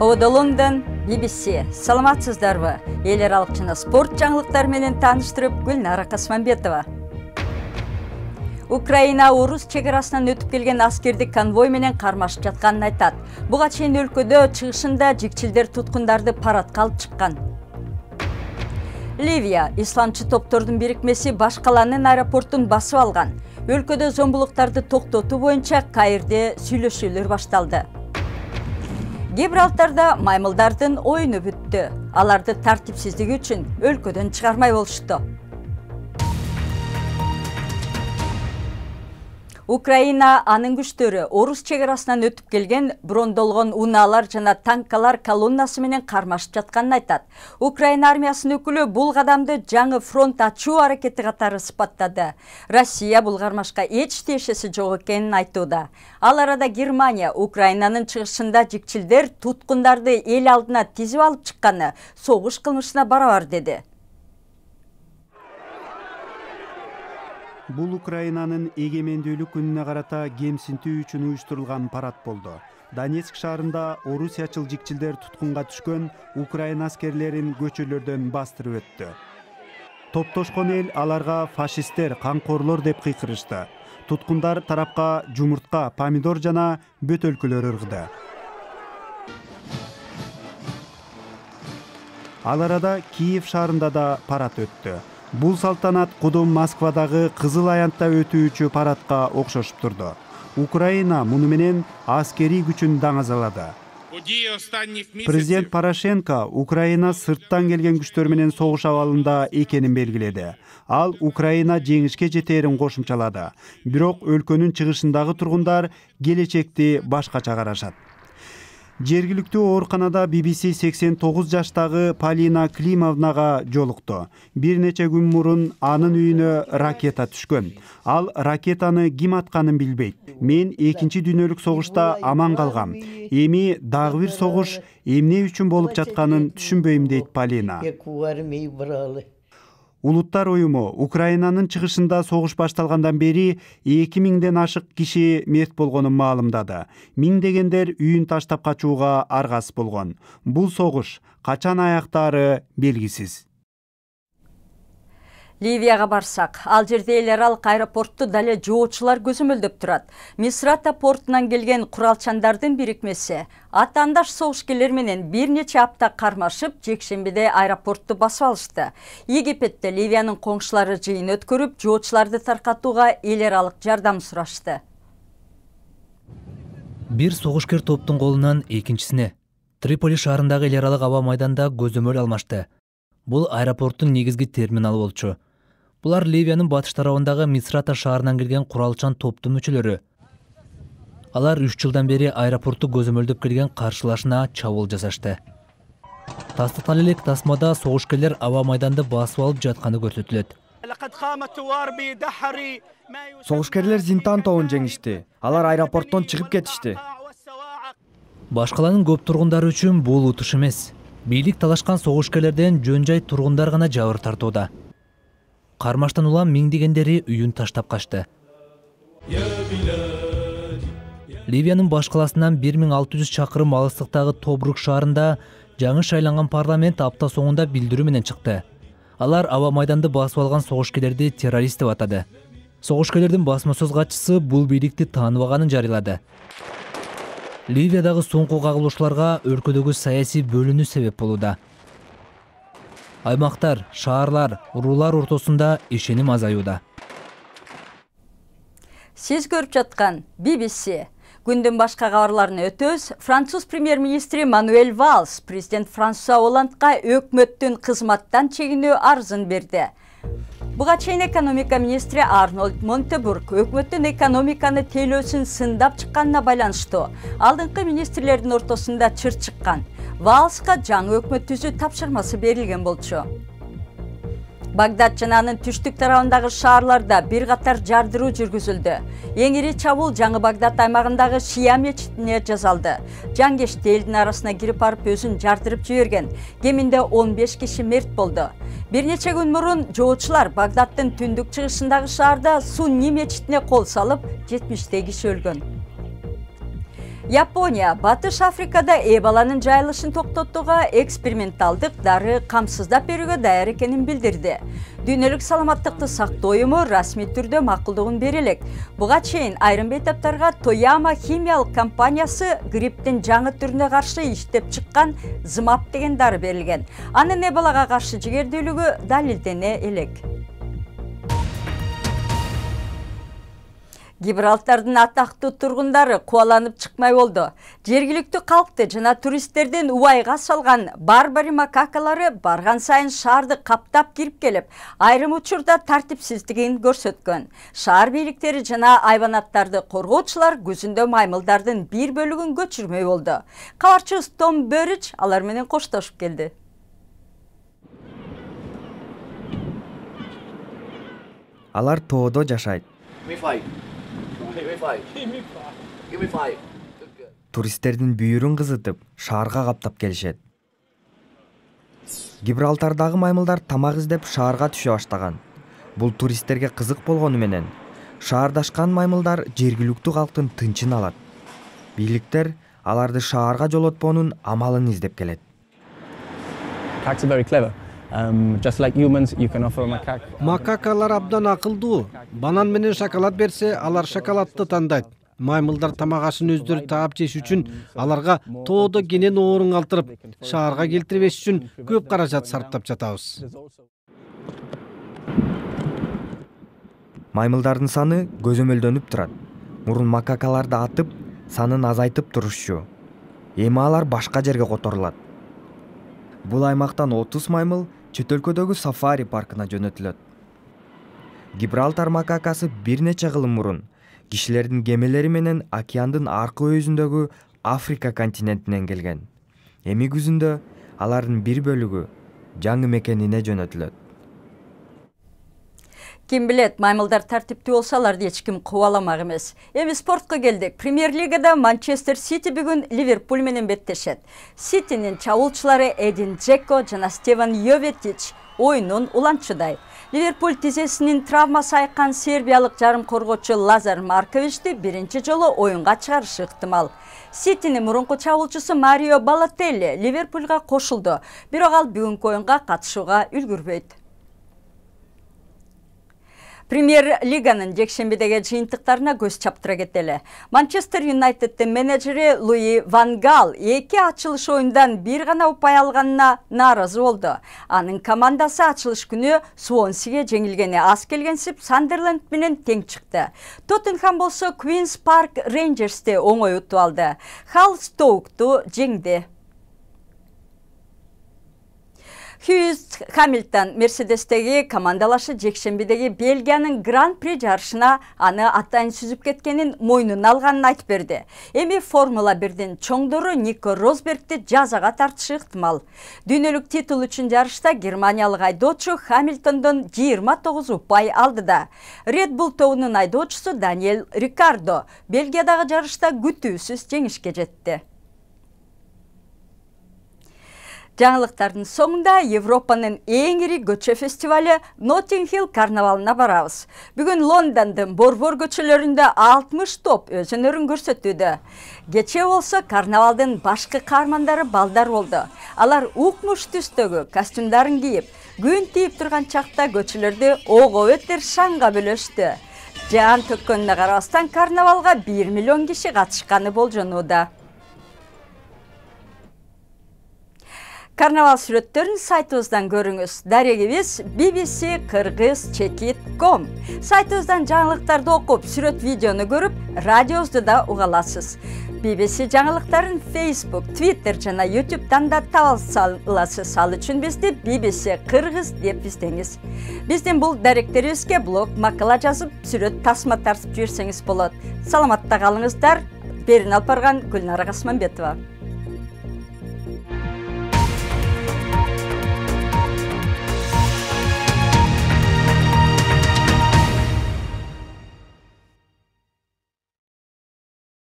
Ода Лондон, BBC. Саламатсыздарбы? Эл аралык жана спорт жаңылыктары менен тааныштырып, Гүлнара Касманбетова. Украина орус чегарасынан өтүп келген аскердик конвой менен кармашып жатканын айтат. Буга чейин өлкөдө чыгышында жикчилдер туткундарды парадка алып чыккан. Ливия исламчы топтордун бирикмеси баш каланын аэропортун басып алган. Өлкөдө зомбулуктарды токтотуу боюнча Каирде сүйлөшүүлөр башталды. Гибралтарда маймылдардын оюну бүттү. Аларды тартипсиздиги үчүн өлкөдөн чыгармай болушту. Украина анын күчтөрү орус чегарасынан өтүп келген брондолгон унаалар жана танкалар колоннасы менен кармашып жатканын айтат. Украина армиясынын өкүлү бул кадамды жаңы фронт ачуу аракети катары сыпаттады. Россия бул кармашка эч тиешеси жок экенин айтууда. Ал арада Германия Украинанын чыгышында жикчилдер туткундарды эл алдына тизип алып чыкканы согуш кылмышына барабар деди. Бул Украинанын эгемендүүлүк күнүнө карата кемсинтүү үчүн уюштурулган парад болду. Донецк шаарында орусиячыл жикчилдер туткунга түшкөн Украина аскерлерин көчөлөрдөн бастырып өттү. Топтошкон эл аларга фашисттер, камкорлор деп кыйкырышты. Туткундар тарапка жумуртка, помидор жана бөтөлкөлөр ыргыды. Ал арада Киев шаарында да парад өттү. Бул салтанат кудум Москвадагы Кызыл аянтта өтүүчү парадка окшошуп турду. Украина муну менен аскерий күчүн даңазалады. Президент Порошенко Украина сырттан келген күчтөр менен согуш абалында экенин белгиледи. Ал Украина жеңишке жетээрин кошумчалады. Бирок өлкөнүн чыгышындагы тургундар келечекти башкача карашат. Жергиликтүү ооруканада BBC 89 жаштагы Полина Климовнага жолукту. Бир нече күн мурун анын үйүнө ракета түшкөн. Ал ракетаны ким атканын билбейт. Мен 2-чи дүйнөлүк согушта аман калгам. Эми дагы бир согуш эмне үчүн болуп жатканын түшүнбөйм дейт Полина. Улуттар уюму Украинанын чыгышында согуш башталгандан бери 2000ден ашык киши мерт болгонун маалымдады. Миңдегендер үйүн таштап качууга аргасыз болгон. Бул согуш качан аяктаары белгисиз. Ливияга барсак, ал жерде эл аралык аэропортту дале жоочулар көзөмөлдөп турат. Мисрата портунан келген куралчандардын бирикмеси атаандаш согушкерлер менен бир нече апта кармашып, жекшембиде аэропортту басып алышты. Египетте Ливиянын коңшулары жыйын өткөрүп, жоочуларды таркатууга эл аралык жардам сурашты. Бир согушкер топтун колунан экинчисине Триполи шаарындагы эл аралык аба майданда көзөмөл алмашты. Бул аэропорттун негизги терминалы болчу. Булар Ливиянын батыш тарабындагы Мисрата шаарынан келген куралчан топтун мүчөлөрү. Алар 3 жылдан бери аэропортту көзөмөлдөп келген каршылашына чабуул жасашты. Тастыктан элек тасмада согушкерлер аба майданды басып алып жатканы көрсөтүлөт. Согушкерлер Зинтан тобун жеңишти. Алар аэропорттон чыгып кетишти. Баш каланын көп тургундары үчүн бул утуш эмес. Бийлик талашкан согушкерлерден жөн-жай тургундар гана жабыр тартууда. Кармаштан улам миңдегендери үйүн таштап качты. Ливиянын баш каласынан 1600 чакырым алыстыктагы Тобрук шаарында жаңы шайланган парламент апта соңунда билдирүү менен чыкты. Алар аба майданды басып алган согушкерлерди террорист деп атады. Согушкерлердин басма сөз катчысы бул бийликти тааныбаганын жарыялады. Ливиядагы соңку кагылышууларга өлкөдөгү саясий бөлүнүү себеп болууда. Аймактар, шаарлар, уруулар ортосунда ишеним азаюуда. Сиз көрүп жаткан BBC. Күндүн башка кабарларына өтөбүз. Француз премьер-министри Мануэль Валс президент Франсуа Олландга өкмөттүн кызматтан чегинүү арызын берди. Буга чейин экономика министри Арнольд Монтебург өкмөттүн экономиканы тейлөөсүн сындап чыкканына байланыштуу алдыңкы министрлердин ортосунда чыр чыккан. Валска жаңы өкмөт түзүү тапшырмасы берилген болчу. Багдад жана анын түштүк тарабындагы шаарларда бир катар жардыруу жүргүзүлдү. Эң ири чабуул жаңы Багдад аймагындагы Шия мечитине жасалды. Жангешти элдин арасына кирип барып өзүн жардырып жиберген. Кеминде 15 киши мерт болду. Бир нече күн мурун жоочулар Багдаддын түндүк чыгышындагы шаарда Сунни мечитине кол салып, 70 киши өлгөн. Япония Батыш Африкада эбаланын жайылышын токтотууга эксперименталдык дары камсыздап берүүгө даяр экенин билдирди. Дүйнөлүк саламаттыкты сактоо уюму расмий түрдө макулдугун бере элек. Буга чейин айрым бейтаптарга Тояма химиялык компаниясы грипптин жаңы түрүнө каршы иштеп чыккан Змап деген дары берилген. Анын эбалага каршы жигердүүлүгү далилдене элек. Гибралтардын атактуу тургундары кубаланып чыкмай болду. Жергиликтүү калкты жана туристтердин убайга салган барбари макакалары барган сайын шаарды каптап кирип келип, айрым учурда тартипсиздигин көрсөткөн. Шаар бийликтери жана айванаттарды коргоочулар күзүндө маймылдардын бир бөлүгүн көчүрмөй болду. Кабарчыбыз Том Бөрич алар менен коштошуп келди. Алар тоодо жашайт. Туристтердин бүйүрүн кызытып, шаарга каптап келишет. Гибралтардагы маймылдар тамак издеп шаарга түшө баштаган. Бул туристтерге кызык болгону менен шаардашкан маймылдар жергиликтүү калктын тынчын алат. Бийликтер аларды шаарга жолотпоонун амалын издеп келет. Макакалар абдан акылдуу. Банан менен шоколад берсе, алар шоколадты тандайт. Маймылдар тамак ашын өздөрү таап жеш үчүн аларга тоодо кенен оорун калтырып, шаарга келтирбеш үчүн көп каражат сарптап жатабыз. Маймылдардын саны көзөмөлдөнүп турат. Мурун макакаларды атып, санын азайтып турушчу. Эми алар башка жерге которулат. Бул аймактан 30 маймыл чет өлкөдөгү сафари паркына жөнөтүлөт. Гибралтар макакасы бир нече кыл мурун кишилердин кемелери менен океандын аркы өйүзүндөгү Африка континентинен келген. Эми күзүндө алардын бир бөлүгү жаңы мекенине жөнөтүлөт. Ким билет, маймылдар тартиптүү болсо аларды эч ким кубаламак эмес. Эми спортко келдик. Премьер-лигада Манчестер Сити бүгүн Ливерпуль менен беттешет. Ситинин чабуулчулары Эдин Джеко жана Стефан Йоветич оюнун уланчудай. Ливерпуль тизесинин травмасы айккан сербиялык жарым коргоочу Лазар Марковичти биринчи жолу оюнга чыгарышы ыктымал. Ситинин мурунку чабуулчусу Марио Балотелли Ливерпульга кошулду, бирок ал бүгүнкү оюнга катышууга үлгүрбөйт. Премьер-лиганын жекшембидеги жыйынтыктарына көз чаптыра кетели. Манчестер Юнайтеддин менеджери Луи Ван Гал 2 ачылыш оюндан бир гана упай алганына нааразы болду. Анын командасы ачылыш күнү Суонсиге жеңилгени аз келгенсип Сандерленд менен тең чыкты. Тоттенхам болсо Queen's Park Rangers'ти оңой утуп алды. Хал Стоукту жеңди. Льюис Хамилтон Мерседестеги командалашы жекшембидеги Бельгиянын Гран-при жарышына аны атайын сүзүп кеткенин мойнуна алганын айтып берди. Эми Формула 1дин чоңдору Нико Росбергти жазага тартышы ыктымал. Дүйнөлүк титул үчүн жарышта германиялык айдоочу Хамилтондон 29 упай алды да. Red Bull тобунун айдоочусу Даниэль Рикардо Бельгиядагы жарышта күтүүсүз жеңишке жетти. Жаңылыктардын соңунда Европанын эң ири көчө фестивалы Notting Hill карнавалына барабыз. Бүгүн Лондондун борбор көчөлөрүндө 60 топ өз өнөрүн көрсөтүүдө. Кечээ болсо карнавалдын башкы каармандары балдар болду. Алар укмуш түстөгү костюмдарын кийип, күн тийип турган чакта көчөлөрдү ого бетер шаңга бөлөштү. Жаан төккөнүнө карабастан карнавалга 1 миллион киши катышканы болжонууда. Карнавал сүрөттөрүн сайтыбыздан көрүңүз. Дарегибиз bbc-kyrgyz.com. Сайтыбыздан жаңылыктарды окуп, сүрөт видеону көрүп, радиобузду да уга аласыз. BBC жаңылыктарын Facebook, Twitter жана YouTube'дан да таба аласыз. Ал үчүн бизди BBC Кыргыз деп издеңиз. Биздин бул даректерибизге блог, макала жазып, сүрөт тасма тартып жиберсеңиз болот. Саламатта калыңыздар. Берин алып барган Гүлнара Касманбетова.